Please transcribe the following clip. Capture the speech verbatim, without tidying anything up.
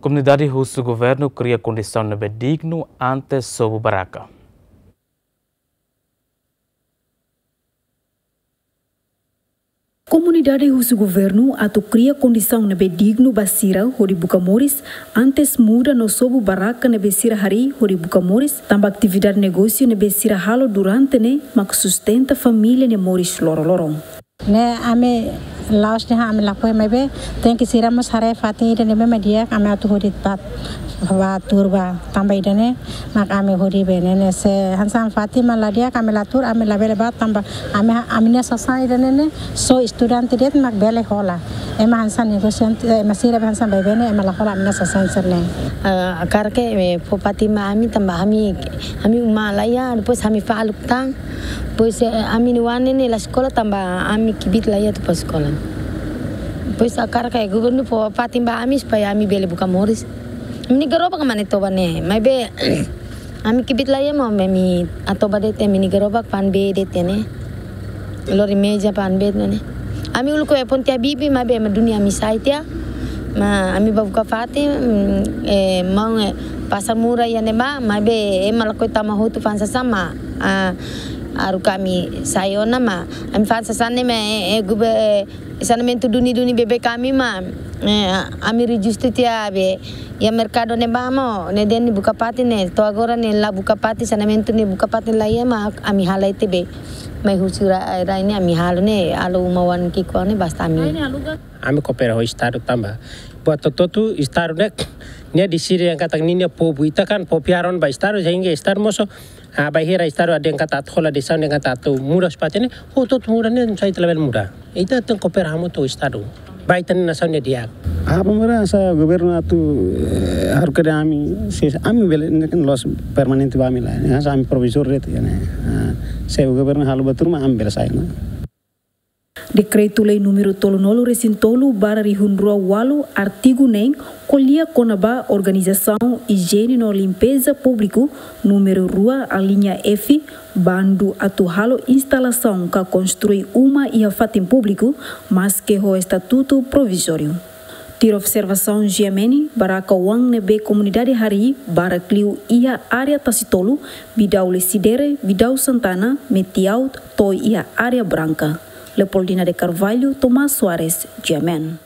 Komunidade husu governu kria kondisaun ne'ebé dignu antes sobu barraka. Komunidade husu governu atu kria kondisaun ne'ebé dignu ba sira hodi buka moris antes muda no sobu barraka ne'ebé sira harii hodi buka moris, tanba atividade negósiu ne'ebé sira halo durante ne'e mak sustenta família nia moris loroloron. Ne'e ami la'ós dehan ami lakohi, maibé tenke sira mós haree fatin ida ne'ebé mak di'ak ami atu hodi bá, bá tuur bá, tanba ida-ne'e mak ami hodi bá ne'e. Ne'e se hanesan fatin mak la di'ak ami la tuur, ami labele bá tanba ami, ami-nia sasán ida-ne'e ne'e só estudante de'it mak bele hola. Ema hanesan negosiante, eh, ema sira be hanesan baibain ne'e, ema la hola ami-nia sasán sira-ne'e. Ah, hakarak ke, eh, fó fatin ba ami tanba ami, ami uma la iha, depois ami faluk tan. Depois, eh, ami-nia oan ne'e la eskola tanba ami kbiit la iha atu bá eskola. Depois hakarak ke governu fó fatin ba ami supaya ami bele buka moris. Ami-nia gerobak mak ne'e toba ne'e, maibé ami kbiit la iha, maibé ami atoba de'it ami-nia gerobak fa'an bee de'it ne'e. Lori meza fa'an bee ne'e. Ami uluk iha ponte Habibie, maibé ema duni ami sai tiha. Mak ami bá buka fatin, mm, eh, maun, eh, pasar murah iha ne'ebá, maibé ema lakohi tama hotu fa'an sasán mak, ah, haruka ami sai ona mak. Ami fa'an sasán ne'e mak, eh, eh, gube, eh, saneamentu duni-duni beibeik ami mak, eh, ami rejistu tiha be iha merkadu ne'ebá mak, ne'e dehan nia buka fatin ne'e, to'o agora ne'e la buka fatin, saneamentu nia buka fatin la iha mak ami halai tiha be. Mai husi rai, rai ne'e ami halo ne'e, halo uma oan ki'ikoan ne'e basta ami. Ami koopera ho Estadu tanba buat hotu-hotu Estadu ne'e, nia deside dehan katak ninia povu, ita kan povu iha rona ba Estadu, sehingga Estadu mós, ah, bainhira Estadu dehan katak atu hola desizaun dehan katak atu muda fatin ne'e, hotu-hotu muda ne'e, sai ita labele muda. Ita tenke koopera hamutuk ho Estadu. Ba ita-nia nasaun nia di'ak. Ah, pemerintah sa governu atu, eh, haruka de'it ami, se ami bele, ne'e kan la'ós permanente ba ami la. Ne'e hanesan ami provizóriu de'it, ya, ne'e. Ah, se governu halo buat tuur mak ami bele sai, ne'e. Dekretu-Lei númeru tolunulu-resin-tolu barra rihun rua ualu, artigu neen, ko'alia kona-ba organizasaun ijiene no limpeza públiku, númeru rua, aliña F, bandu atu halo instalasaun ka konstrui uma iha fatin públiku, maske ho estatutu provizóriu. Tuir observasaun G M N, barraka oan ne'ebé komunidade harii barak liu iha área Tasitolu, Bidau Lecidere, Bidau Santana, Metiaut, to'o iha Área Branka. Leopoldina de Carvalho, Tomás Soares, G M N.